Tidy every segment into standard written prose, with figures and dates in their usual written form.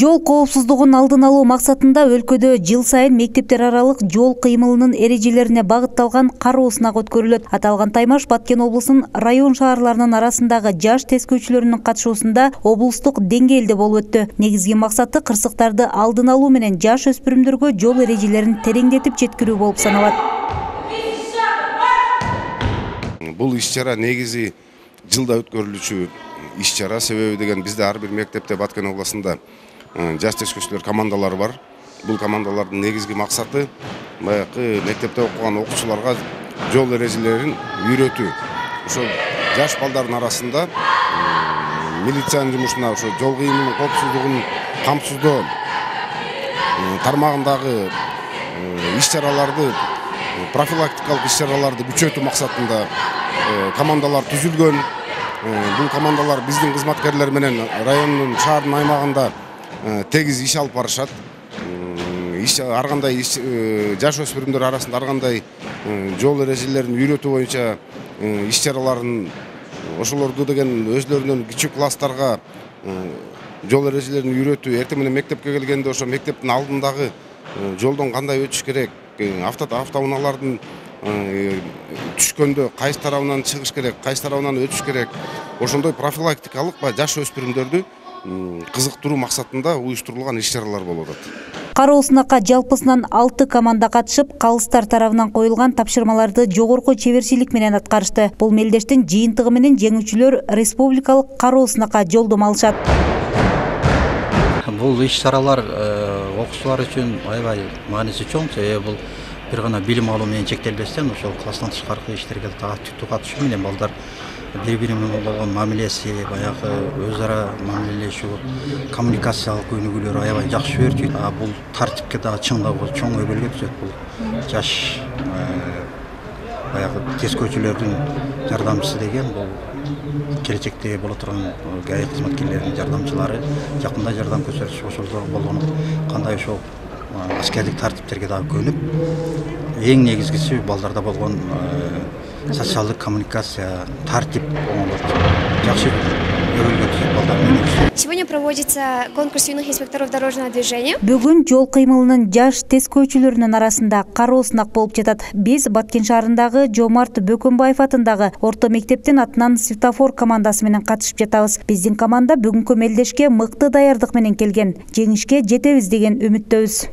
Жол коопсуздугун алдын алуу максатында өлкөдө жыл сайын мектептер аралык жол кыймылынын эрежелерине багытталган кароо сынак өткөрүлөт. Аталган таймаш Баткен облусунун район шаарларынын арасындагы жаш тескөөчүлөрүнүн катышуусунда облустук деңгээлде болуп өттү. Негизги максаты кырсыктарды алдын алуу менен жаш өспүрүмдөргө жол эрежелерин тереңдетип жеткирүү болуп саналат. Бул иш-чара негизи жылда өткөрүлүүчү иш-чара, себеби деген бизде ар бир мектепте Баткен областында жаш тескөөчүлөр командалары бар. Бул командалардын негизги максаты баягы мектепте окуган окуучуларга жол эрежелерин үйрөтүү. Ошо жаш балдардын арасында милициянын жумушуна ошо жол кыймылынын коопсуздугун камсыздоо тармагындагы иш-чараларды, профилактикалык иш-чараларды күчөтүү максатында командалар түзүлгөн. Бул командалар биздин кызматкерлер менен райондун, шаардын аймагында тегиз иш алып барышат. Ар кандай жаш өспүрүмдөр арасында ар кандай жол эрежелерин үйрөтүү боюнча иш-чараларын, ошолорду деген өзлөрүнөн кичүү класстарга жол эрежелерин үйрөтүү, эртең менен мектепке келгенде ошо мектептин алдындагы жолдон кандай өтүш керек, автоунаалардын түшкөндө кайсы тарабынан чыгыш керек, кайсы тарабынан өтүш керек, ошондой профилактикалык жаш өспүрүмдөрдү кызыктыруу максатында уюштурулган иш-чаралар болуп атат. Кароо сынакка жалпысынан 6 команда катышып, калыстар тарабынан коюлган тапшырмаларды жогорку чеберчилик менен аткарышты. Бул мелдештин жыйынтыгы менен жеңүүчүлөр республикалык кароо сынакка жолдомо алышат. Бул иш-чаралар окуучулар үчүн аябай мааниси чоң, себеби бул бир гана билим алуу менен чектелбестен ошол класстан тышкаркы иштерге активдүү катышуу менен балдар бири-бири менен болгон мамилеси, баягы өз ара мамилелешүү, коммуникациялык өнүгүүлөр аябай жакшы өрчүйт. Бул тартипке дагы чыңдоого чоң өбөлгө түзөт. Бул жаш баягы тескөөчүлөрдүн жардамчысы деген бул келечекте боло турган ГАИ кызматкерлеринин жардамчылары жакында жардам көрсөтүш ошол болгон кандай ошол аскердик тартиптерге дагы көнүп, эң негизгиси балдарда болгон социалдык коммуникация, тартип жакшы өбөлгө түзөт балдар менен. Сегодня проводится конкурс юных инспекторов дорожного движения. Бүгүн жол кыймылынын жаш тескөөчүлөрүнүн арасында кароо сынак болуп жатат. Биз Баткен шаарындагы Жомарт Бөкөнбаев атындагы орто мектептин атынан светофор командасы менен катышып жатабыз. Биздин команда бүгүнкү мелдешке мыкты даярдык менен келген. Жеңишке жетебиз деген үмүттөбүз.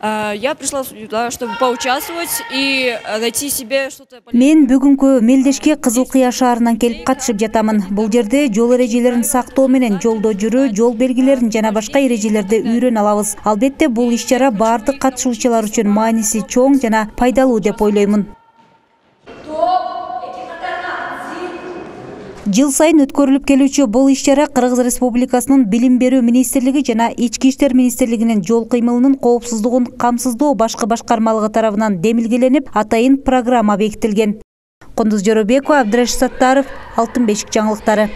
Я пришла сюда, чтобы поучаствовать и найти себе что-то. Мен бүгүнкү мелдешке Кызыл Кыя шаарынан келип катышып жатамын. Бул жерде жол эрежелерин сактоо менен жолдо жүрүү, жол белгилерин жана башка эрежелерди үйрөнө алабыз. Албетте бул иш-чара баардык катышуучулар үчүн мааниси чоң жана пайдалуу деп ойлоймун. Жыл сайын өткөрүлүп келүүчү бул иш-чара Кыргыз Республикасынын Билим берүү министрлиги жана Ички иштер министрлигинин жол кыймылынын коопсуздугун камсыздоо башкы башкармалыгы тарабынан демилгеленип, атайын программа бекитилген. Кундуз Жоробекова, Абдрашит Саттаров, Алтын бешик жаңылыктары.